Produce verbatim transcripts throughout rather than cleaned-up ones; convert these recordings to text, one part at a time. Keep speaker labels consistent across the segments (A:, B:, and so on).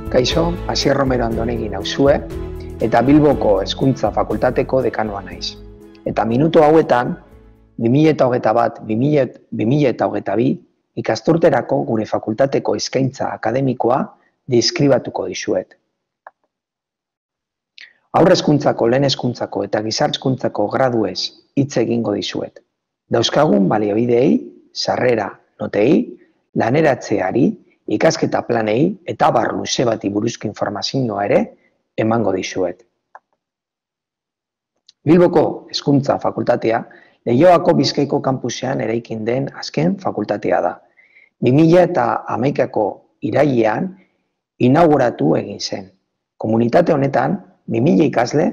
A: Kaixo, Asier Romero Andonegi nauzue, eta Bilboko Hezkuntza Fakultateko dekanoa naiz. Eta minutu hauetan, bi mila hogeita bat - bi mila hogeita bi ikasturterako gure fakultateko eskaintza akademikoa deskribatuko dizuet. Haur hezkuntzako, lehen hezkuntzako eta gizarte hezkuntzako graduez hitz egingo dizuet. Dauzkagun baliabideei, sarrera notei, laneratzeari, ikasketa planei eta abar luze bati buruzko informazioa ere emango dizuet. Bilboko Hezkuntza Fakultatea Leioako Bizkaiko kanpusean eraikin den azken fakultatea da. bi mila hamaikako irailean inauguratu egin zen. Komunitate honetan bi mila ikasle,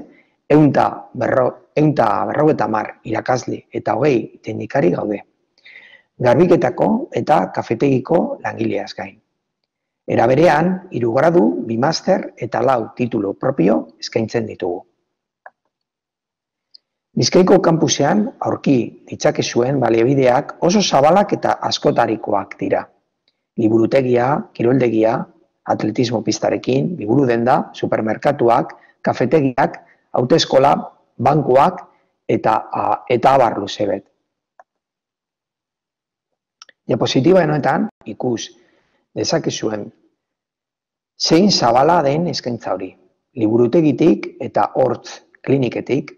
A: ehun eta berrogeita hamar irakasle eta hogei teknikari gaude. Garbiketako eta kafetegiko langileaz gain. Era berean, hiru gradu, bi master eta lau titulu propio eskaintzen ditugu. Bizkaiko kanpusean aurki ditzakezuen baliabideak oso zabalak eta askotarikoak dira. Liburutegia, kiroldegia, atletismo pistarekin, liburu denda, supermerkatuak, kafetegiak, autoeskola, bankuak eta eta abar luze bet. Diapositiba honetan ikus dezakezuen zein zabala den eskaintza hori. Liburutegitik eta hortz kliniketik,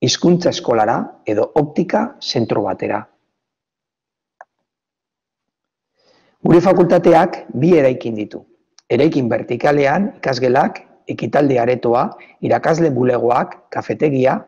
A: hizkuntza eskolara edo optika zentro batera. Gure fakultateak bi eraikin ditu. Eraikin vertikalean ikasgelak, ekitaldi aretoa, irakasle bulegoak, kafetegia,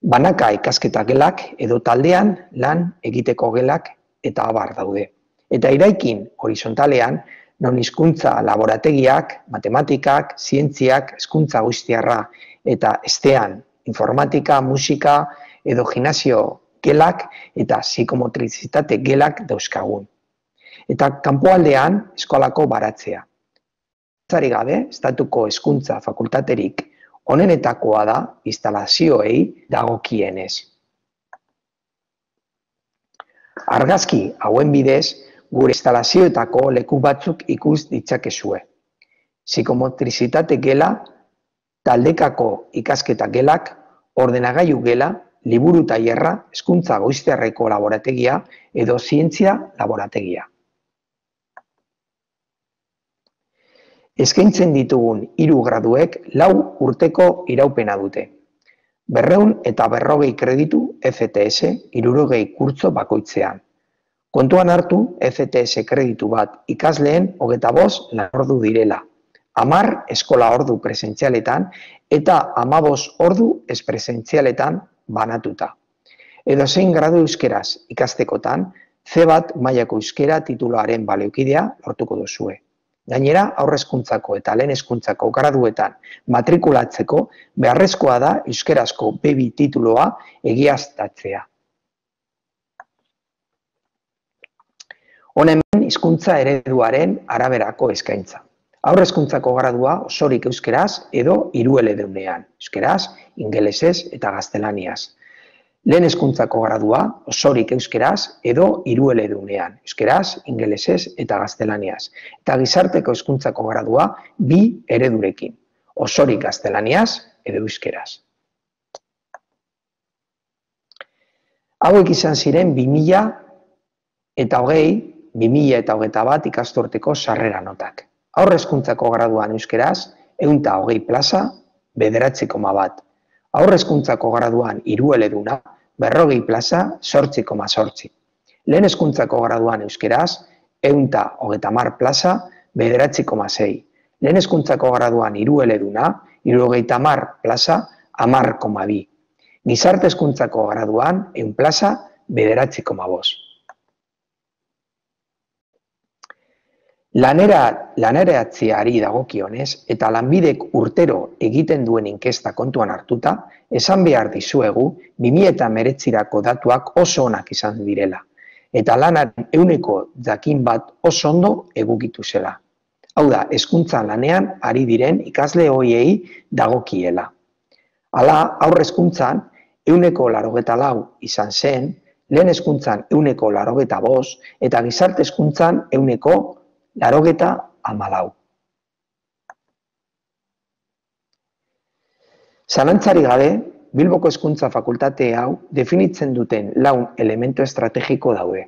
A: banaka ikasketa gelak edo taldean lan egiteko gelak eta abar daude. Eta eraikin horizontalean, non hizkuntza laborategiak, matematikak, zientziak, hezkuntza guztiarra eta estean informatika, musika edo gimnasio gelak eta psikomotrizitate gelak dauzkagun. Eta kanpoaldean eskolako baratzea. Zari gabe, estatuko hezkuntza fakultaterik onenetakoa da instalazioei dagokienez. Argazki hauen bidez, gure instalazioetako leku batzuk ikus ditzakezue. Psikomotrizitate gela, taldekako ikasketa gelak, ordenagailu gela, liburu tailerra, hezkuntza goiztiarreko laborategia edo zientzia laborategia. Eskaintzen ditugun hiru graduek lau urteko iraupena dute. Berrehun eta berrogei kreditu F T S hirurogei kurtso bakoitzean. Kontuan hartu F T S kreditu bat ikasleen hogeita bost lan ordu direla. Hamar eskola ordu presentzialetan eta hamabost ordu ez presentzialetan banatuta. Edozein gradu euskeraz ikastekotan, C bat mailako euskera tituluaren baliokidea lortuko duzue. Gainera, haur hezkuntzako eta lehen hezkuntzako graduetan matrikulatzeko beharrezkoa da euskerazko B bi titulua egiaztatzea. Honen hizkuntza ereduaren araberako eskaintza. Haur hezkuntzako gradua osorik euskeraz edo hirueledunean, euskeraz, ingelesez eta gaztelaniaz. Lehen hezkuntzako gradua osorik euskeraz edo hirueledunean, euskeraz, ingelesez eta gaztelaniaz. Eta gizarteko hezkuntzako gradua bi eredurekin, osorik gaztelaniaz edo euskeraz. Hauek izan ziren bi mila eta hogei, bi mila eta hogeita bat ikasturteko sarrera notak. Haur hezkuntzako graduan euskeraz, ehun eta hogei plaza, bederatzi koma bat. Haur hezkuntzako graduan hirueleduna, berrogei plaza, zortzi koma zortzi. Lehen hezkuntzako graduan euskeraz, ehun eta hogeita hamar plaza, bederatzi koma sei. Lehen hezkuntzako graduan hirueleduna, hirurogeita hamar plaza, hamar koma bi. Gizarte hezkuntzako graduan ehun plaza, bederatzi koma bost. Laneratzeari dagokionez eta lanbidek urtero egiten duen inkesta kontuan hartuta, esan behar dizuegu bi mila hemeretzirako datuak oso onak izan direla, eta lanaren ehuneko jakin bat oso ondo egokitu zela. Hau da, hezkuntza lanean ari diren ikasle horiei dagokiela. Hala, haur hezkuntzan ehuneko laurogeita lau izan zen, lehen hezkuntzan ehuneko laurogeita bost eta gizarte hezkuntzan ehuneko laurogeita hamalau. Zalantzari gabe, Bilboko Hezkuntza Fakultate hau definitzen duten lau elementu estrategiko daude.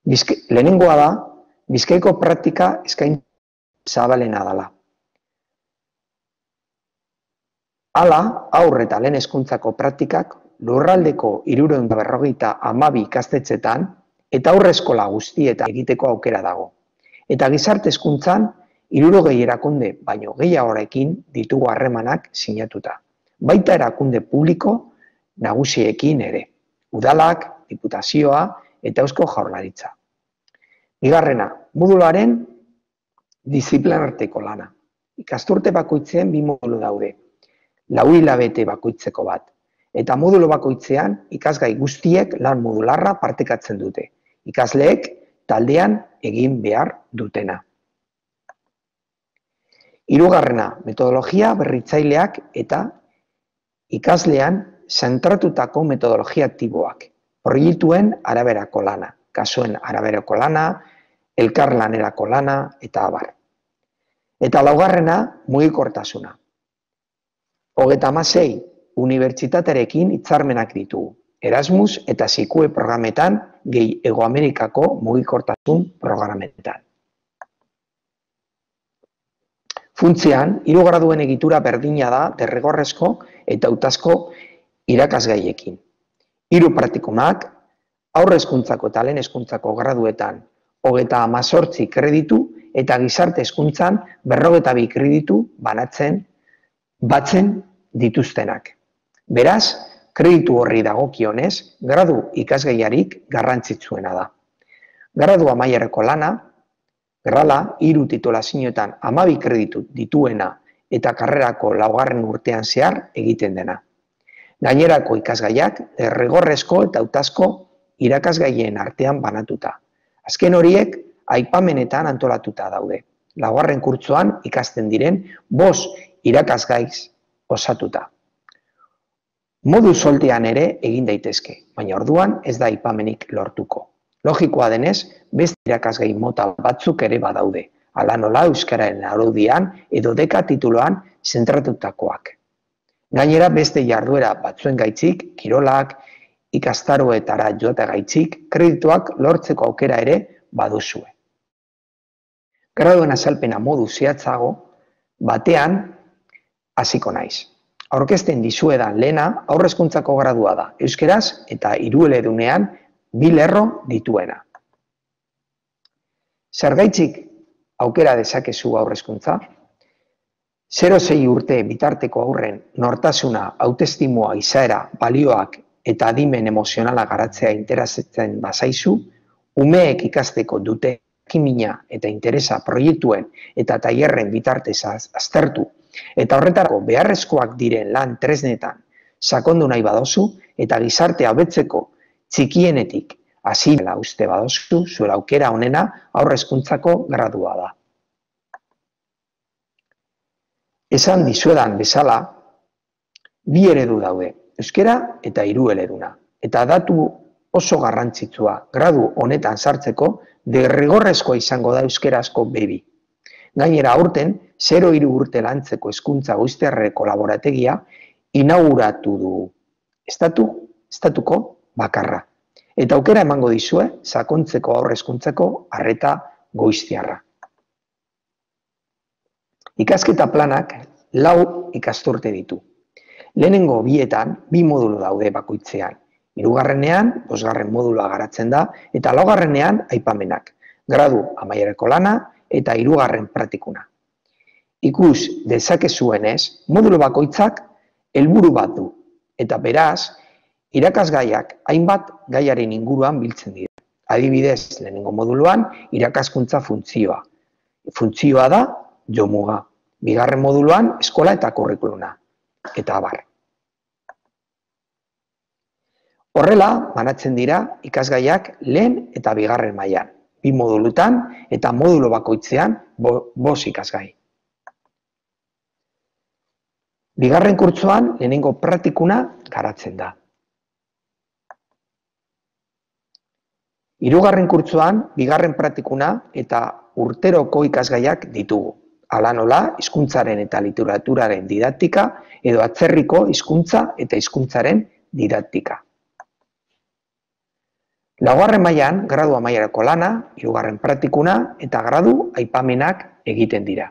A: Bizke, lehenengoa da, Bizkaiko praktika eskaintza zabalena dela. Hala, haur eta lehen hezkuntzako praktikak lurraldeko hirurehun eta berrogeita hamabi ikastetxetan eta haur eskola guztietan egiteko aukera dago. Eta gizarte hezkuntzan hirurogei erakunde baino gehiagorekin ditugu harremanak sinatuta. Baita erakunde publiko nagusiekin ere, udalak, diputazioa eta Eusko Jaurlaritza. Bigarrena, moduloaren diziplinarteko lana. Ikasturte bakoitzean bi modulu daude, lau hilabete bakoitzeko bat, eta modulo bakoitzean ikasgai guztiek lan modularra partekatzen dute, ikasleek taldean egin behar dutena. Hirugarrena, metodologia berritzaileak eta ikaslean zentratutako metodologia aktiboak, proiektuen araberako lana, kasuen araberako lana, elkarlanerako lana eta abar. Eta laugarrena, mugikortasuna. Hogeita hamasei unibertsitatearekin hitzarmenak ditugu, Erasmus eta Sikue programetan gehi Hego Amerikako mugikortasun programetan. Funtzean, hiru graduen egitura berdina da derrigorrezko eta hautazko irakasgaiekin. Hiru praktikumak, haur hezkuntzako eta lehen hezkuntzako graduetan hogeita hemezortzi kreditu eta gizarte hezkuntzan berrogeita bi kreditu banatzen batzen dituztenak. Beraz, kreditu horri dagokionez, gradu ikasgaiarik garrantzitsuena da. Gradu amaierako lana, grala, hiru titulazioetan hamabi kreditu dituena eta karrerako laugarren urtean zehar egiten dena. Gainerako ikasgaiak derrigorrezko eta hautazko irakasgaien artean banatuta. Azken horiek aipamenetan antolatuta daude. Laugarren kurtsoan ikasten diren bost irakasgaiz osatuta. Modu soltean ere egin daitezke, baina orduan ez da aipamenik lortuko. Logikoa denez, beste irakasgai mota batzuk ere badaude, hala nola euskararen araudian edo deka tituloan zentratutakoak. Gainera beste jarduera batzuen gaitzik, kirolak, ikastaroetara joate gaitzik, kredituak lortzeko aukera ere baduzue. Graduen azalpena modu zehatzago batean hasiko naiz. Aurkezten dizuedan lehena haur hezkuntzako gradua da, euskeraz eta hirueledunean bi lerro dituena. Zergaitzik aukera dezakezu haur hezkuntza? zero sei urte bitarteko haurren nortasuna, autoestimua, izaera, balioak eta adimen emozionala garatzea interesatzen bazaizu, umeek ikasteko dute jakimina eta interesa proiektuen eta tailerren bitartez aztertu eta horretarako beharrezkoak diren lan tresnetan sakondu nahi badozu eta gizartea hobetzeko txikienetik hasi dela uste badozu, zuela aukera honena haur hezkuntzako gradua da. Esan dizuedan bezala, bi eredu daude, euskera eta hirueleduna. Eta datu oso garrantzitsua gradu honetan sartzeko derrigorrezkoa izango da euskerazko bebi. Gainera aurten, zero hiru urte lantzeko hezkuntza goiztiarreko laborategia inauguratu dugu. Estatu, estatuko bakarra. Eta aukera emango dizue sakontzeko haur hezkuntzako arreta goiztiarra. Ikasketa planak lau ikasturte ditu. Lehenengo bietan bi modulu daude bakoitzean. Hirugarrenean, bosgarren modulua garatzen da, eta laugarrenean aipamenak, gradu amaierako lana eta hirugarren praktikuna. Ikus dezakezuenez, modulu bakoitzak helburu bat du, eta beraz, irakasgaiak hainbat gaiaren inguruan biltzen dira. Adibidez, lehenengo moduluan, irakaskuntza funtzioa. Funtzioa da jomuga. Bigarren moduluan, eskola eta kurrikuluna. Eta abar. Horrela, banatzen dira ikasgaiak lehen eta bigarren mailan, bi modulutan eta modulo bakoitzean bost ikasgai. Bigarren kurtsoan lehenengo praktikuna garatzen da. Hirugarren kurtsoan bigarren praktikuna eta urteroko ikasgaiak ditugu. Hala nola, hizkuntzaren eta literaturaren didaktika edo atzerriko hizkuntza eta hizkuntzaren didaktika. Laugarren mailan, gradu amaierako lana, hirugarren praktikuna eta gradu aipamenak egiten dira.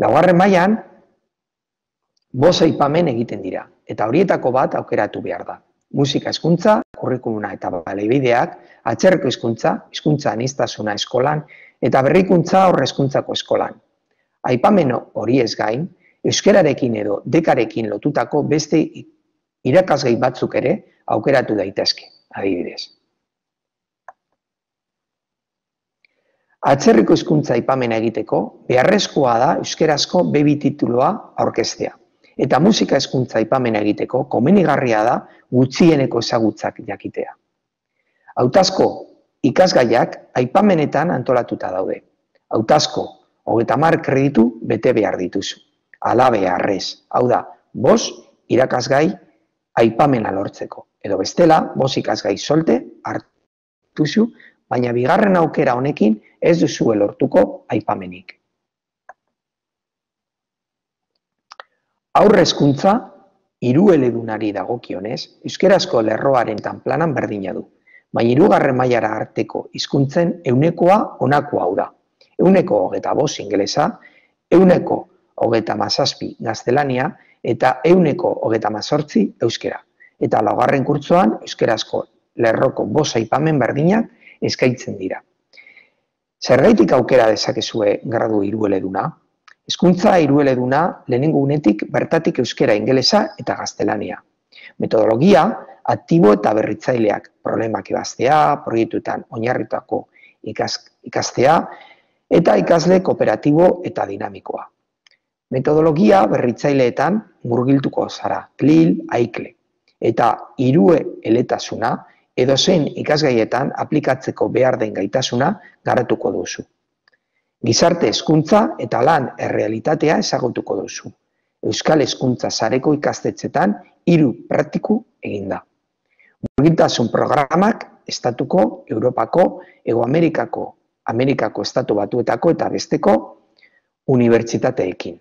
A: Laugarren mailan, bost aipamen egiten dira, eta horietako bat aukeratu behar da. Musika hizkuntza, kurrikuluma eta baliabideak, atzerriko hizkuntza, hizkuntza aniztasuna eskolan, eta berrikuntza aurre hezkuntzako eskolan. Aipamen horiez gain, euskararekin edo dekarekin lotutako beste irakasgai batzuk ere aukeratu daitezke, adibidez. Atzerriko hizkuntza aipamena egiteko, beharrezkoa da euskarazko be bi titulua aurkeztea. Eta musika hizkuntza aipamena egiteko, komenigarria da gutxieneko ezagutzak jakitea. Hautazko ikasgaiak aipamenetan antolatuta daude. Hautazko hogeita hamar kreditu bete behar dituzu. Hala beharrez, hau da, bost irakasgai aipamena lortzeko. Edo bestela, bost ikasgai solte hartuzu, baina bigarren aukera honekin ez duzu lortuko aipamenik. Aurre hezkuntza hirueledunari dagokionez, euskarazko lerroaren tanplanan berdina du, baina hirugarren mailara arteko hizkuntzen ehunekoa honako hau da. Ehuneko hogeita bost ingelesa, ehuneko hogeita hamazazpi gaztelania eta ehuneko hogeita hamazortzi euskara. Eta laugarren kurtsoan euskarazko lerroko bost aipamen berdinak eskaintzen dira. Zergaitik aukera dezakezue gradu hirueleduna? Hizkuntza hirueleduna lehenengo unetik bertatik euskara, ingelesa eta gaztelania. Metodologia, aktibo eta berritzaileak, problemak ebaztea, proiektuetan oinarritutako ikastea, eta ikasle kooperatibo eta dinamikoa. Metodologia berritzaileetan murgiltuko zara, klil, aikle, eta hirueletasuna edozein ikasgaietan aplikatzeko behar den gaitasuna garatuko duzu. Gizarte hezkuntza eta lan errealitatea ezagutuko duzu. Euskal Hezkuntza Sareko ikastetxetan hiru praktiku eginda. Murgiltasun programak estatuko, Europako, Hego Amerikako, Amerikako estatu batuetako eta besteko unibertsitateekin.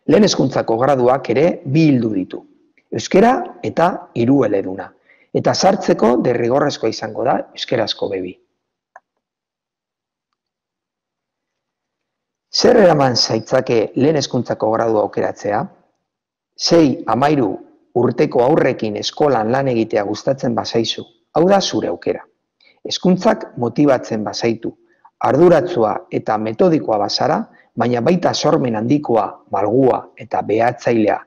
A: Lehen hezkuntzako graduak ere bi ildo ditu. Euskara eta hirueleduna. Eta sartzeko derrigorrezkoa izango da euskarazko be bi. Zer eraman zaitzake lehen hezkuntzako gradua aukeratzea? Sei hamahiru urteko aurrekin eskolan lan egitea gustatzen bazaizu. Hau da zure aukera. Hezkuntzak motibatzen bazaitu, arduratsua eta metodikoa bazara, baina baita sormen handikoa, malgua eta behatzailea,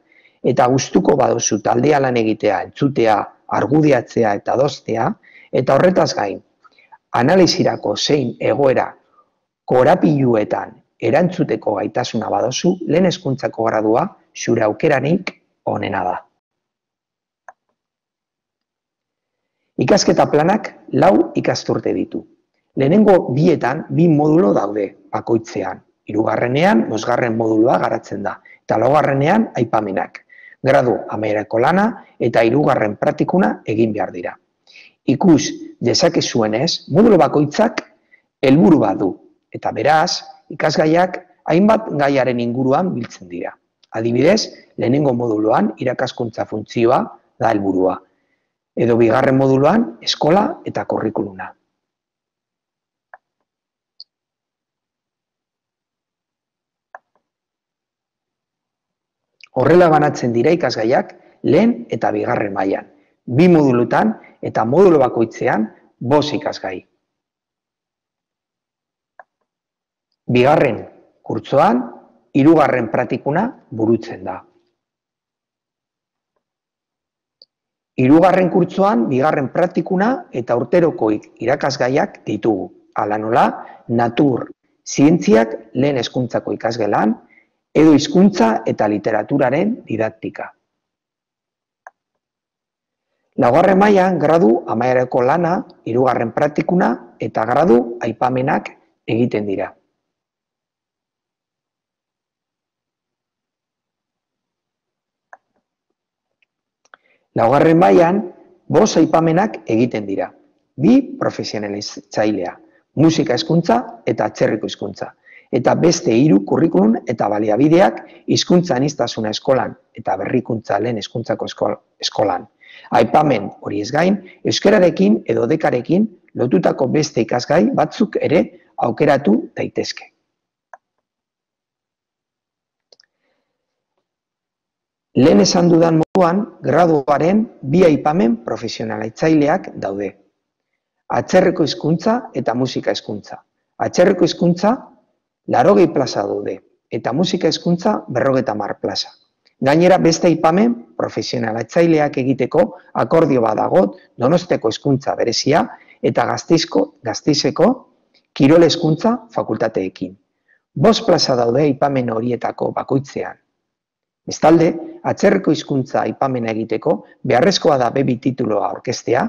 A: eta gustuko baduzu taldea lan egitea, entzutea, argudiatzea eta adostea, eta horretaz gain, analizirako zein egoera korapiluetan erantzuteko gaitasuna baduzu, lehen hezkuntzako gradua zure aukeranik onena da. Ikasketa planak lau ikasturte ditu. Lehenengo bietan bi modulo daude bakoitzean. Hirugarrenean bosgarren modulua garatzen da, eta laugarrenean aipamenak. Gradu amaierako lana eta hirugarren praktikuna egin behar dira. Ikus dezakezuenez, modulo bakoitzak helburu bat du, eta beraz, ikasgaiak hainbat gaiaren inguruan biltzen dira. Adibidez, lehenengo moduloan irakaskuntza funtzioa da helburua, edo bigarren moduluan eskola eta kurrikuluma. Horrela banatzen dira ikasgaiak lehen eta bigarren mailan, bi modulutan eta modulo bakoitzean bost ikasgai. Bigarren kurtsoan, hirugarren praktikuna burutzen da. Hirugarren kurtsoan, bigarren praktikuna eta urteroko irakasgaiak ditugu. Hala nola, natur, zientziak lehen hezkuntzako ikasgelan, edo hizkuntza eta literaturaren didaktika. Laugarren mailan gradu amaierako lana, hirugarren praktikuna eta gradu aipamenak egiten dira. Laugarren mailan bost aipamenak egiten dira. bi profesionalizatzailea, musika hezkuntza eta atzerriko hizkuntza. Eta beste hiru kurrikulum eta baliabideak hizkuntza aniztasuna eskolan eta berrikuntza lehen hezkuntzako eskolan. Aipamen horiez gain, euskararekin edo dekarekin lotutako beste ikasgai batzuk ere aukeratu daitezke. Lehen esan dudan moduan, graduaren bi aipamen profesionalitzaileak daude. Atzerriko hizkuntza eta musika hezkuntza. Atzerriko hizkuntza laurogei plaza daude, eta musika hezkuntza berrogeita hamar plaza. Gainera beste aipamen profesionalitzaileak egiteko akordio badago Donosteko hezkuntza berezia eta Gasteizeko kirol hezkuntza fakultateekin. Bost plaza daude aipamen horietako bakoitzean. Bestalde, atzerriko hizkuntza aipamena egiteko beharrezkoa da be bi titulua aurkeztea,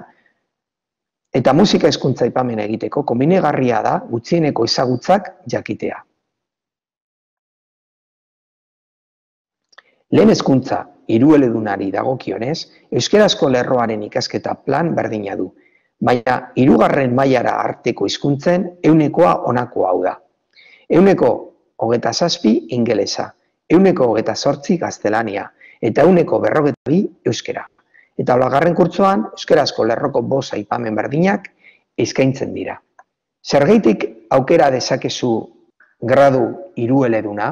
A: eta musika hezkuntza aipamena egiteko komenigarria da gutxieneko ezagutzak jakitea. Lehen hezkuntza hirueledunari dagokionez, euskarazko lerroaren ikasketa plan berdina du, baina hirugarren mailara arteko hizkuntzen ehunekoa honako hau da. Ehuneko hogeita zazpi ingelesa, ehuneko hogeita zortzi gaztelania eta ehuneko berrogeita bi euskara. Eta laugarren kurtsoan euskarazko lerroko bost aipamen berdinak eskaintzen dira. Zergaitik aukera dezakezu gradu hirueleduna?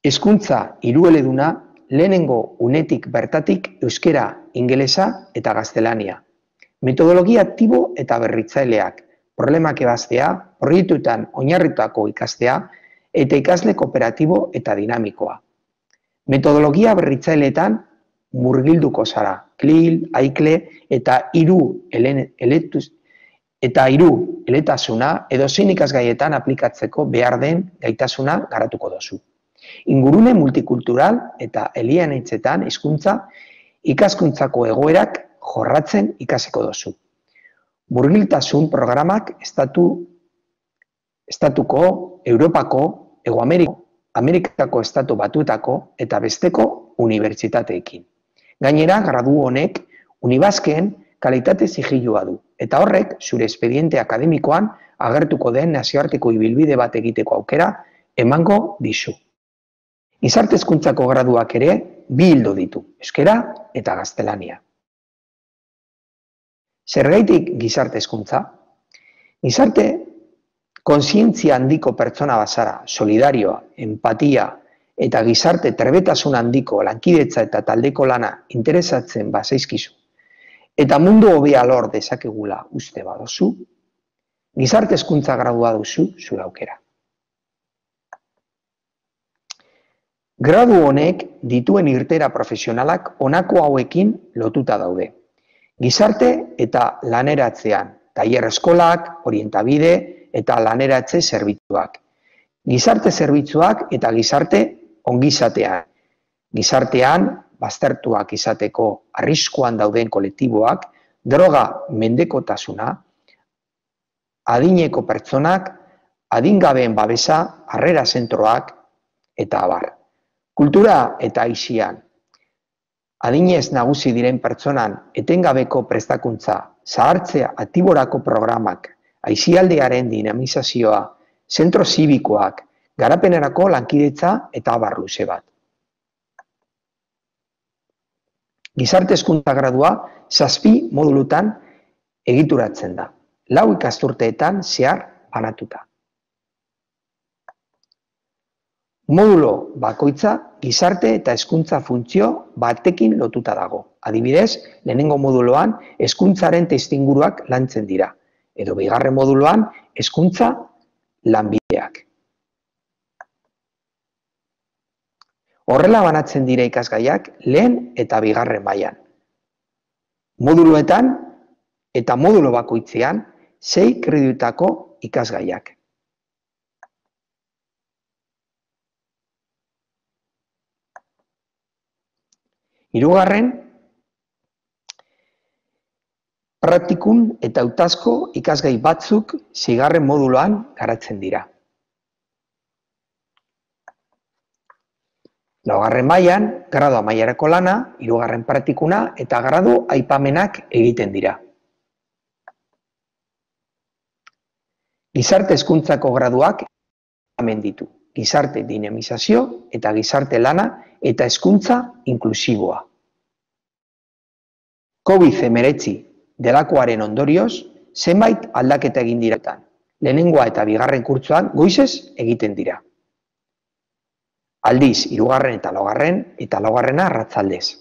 A: Hezkuntza hirueleduna lehenengo unetik bertatik euskara, ingelesa eta gaztelania. Metodologia aktibo eta berritzaileak, problemak ebaztea, proiektuetan oinarritutako ikastea eta ikasle kooperatibo eta dinamikoa. Metodologia berritzaileetan murgilduko zara, klil, aikle eta hiru eletuz eta hiru eletasuna edo zein ikasgaietan aplikatzeko behar den gaitasuna garatuko dozu. Ingurune multikultural eta eleanitzetan hizkuntza ikaskuntzako egoerak jorratzen ikasiko dozu. Murgiltasun programak estatu, estatuko, Europako, Hego Ameriko, Amerikako estatu batuetako eta besteko unibertsitateekin. Gainera, gradu honek Unibasken kalitate sigilua du, eta horrek zure espediente akademikoan agertuko den nazioarteko ibilbide bat egiteko aukera emango dizu. Gizarte hezkuntzako graduak ere bi ildo ditu, euskara eta gaztelania. Zergaitik gizarte hezkuntza? Gizarte kontzientzia handiko pertsona bazara, solidarioa, empatia eta gizarte trebetasun handiko lankidetza eta taldeko lana interesatzen bazaizkizu, eta mundu hobea lor dezakegula uste badozu, gizarte hezkuntza gradua duzu zure aukera. Gradu honek dituen irtera profesionalak honako hauekin lotuta daude. Gizarte eta laneratzean, tailer eskolak, orientabide eta laneratze zerbitzuak. Gizarte zerbitzuak eta gizarte ongizatean. Gizartean, baztertuak izateko arriskuan dauden kolektiboak, droga mendekotasuna, adineko pertsonak, adingabeen babesa, harrera zentroak eta abar. Kultura eta aisian, adinez nagusi diren pertsonan etengabeko prestakuntza, zahartzea aktiborako programak, aisialdearen dinamizazioa, zentro zibikoak, garapenerako lankidetza eta abar luze bat. Gizarte hezkuntza gradua zazpi modulutan egituratzen da, lau ikasturteetan zehar banatuta. Modulo bakoitza gizarte eta hezkuntza funtzio batekin lotuta dago. Adibidez, lehenengo moduloan hezkuntzaren testuinguruak lantzen dira, edo bigarren moduloan hezkuntza lanbideak. Horrela banatzen dira ikasgaiak lehen eta bigarren mailan. Moduloetan eta modulo bakoitzean sei kreditutako ikasgaiak. Hirugarren, praktikun eta hautazko ikasgai batzuk seigarren moduloan garatzen dira. Laugarren mailan, gradu amaierako lana, hirugarren praktikuna eta gradu aipamenak egiten dira. Gizarte hezkuntzako graduak hemen ditu. Gizarte dinamizazio eta gizarte lana eta hezkuntza inklusiboa. covid hemeretzi delakoaren ondorioz, zenbait aldaketa egin diretan. Lehenengoa eta bigarren kurtsoan goizez egiten dira. Aldiz, hirugarren eta laugarren eta laugarrena arratsaldez.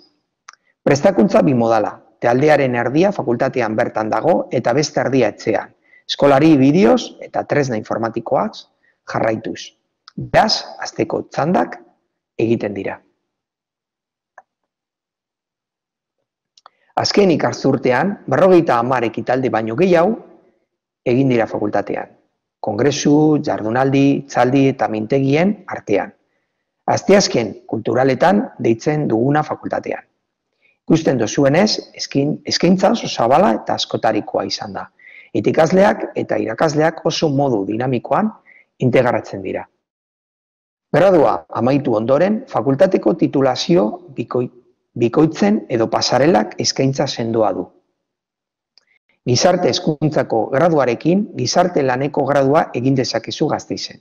A: Prestakuntza bimodala, taldearen erdia fakultatean bertan dago eta beste erdia etxean. Eskolari bideoz eta tresna informatikoak jarraituz. Beraz, asteko txandak egiten dira. Azken ikarzurtean, berrogeita hamar ekitaldi baino gehiago egin dira fakultatean. Kongresu, jardunaldi, txaldi eta mintegien artean. Asteazken kulturaletan deitzen duguna fakultatean. Ikusten dozuenez, eskaintza oso zabala eta askotarikoa izan da. Eta ikasleak eta irakasleak oso modu dinamikoan integratzen dira. Gradua amaitu ondoren, fakultateko titulazio bikoi, bikoitzen edo pasarelak eskaintza sendoa du. Gizarte hezkuntzako graduarekin, gizarte laneko gradua egin dezakezu Gasteizen.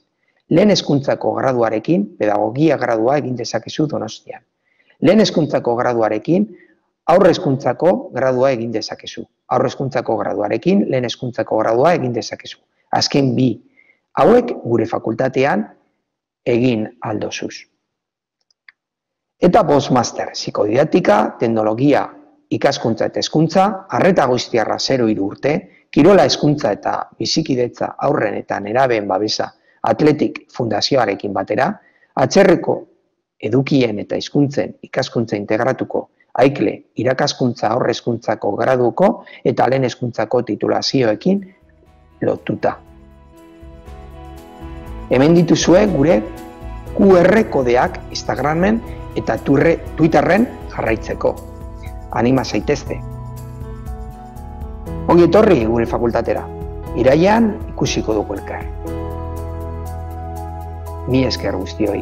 A: Lehen hezkuntzako graduarekin, pedagogia gradua egin dezakezu Donostian. Lehen hezkuntzako graduarekin, aurre hezkuntzako gradua egin dezakezu. Aurre hezkuntzako graduarekin, lehen hezkuntzako gradua egin dezakezu. Azken bi hauek gure fakultatean egin aldozuz. Eta postmaster, psikodidaktika, teknologia, ikaskuntza eta hezkuntza, arreta goiztiarra zero hiru urte, kirola hezkuntza eta bizikidetza aurren eta nerabeen babesa Atletik Fundazioarekin batera, atzerreko edukien eta hizkuntzen ikaskuntza integratuko aikle irakaskuntza aurre hezkuntzako graduko eta lehen hezkuntzako titulazioekin lotuta. Hemen dituzue gure Q R kodeak Instagramen eta Twitterren jarraitzeko. Anima zaitezte. Ongi etorri gure fakultatera. Irailean ikusiko dugu elkar. Mi esker guztioi.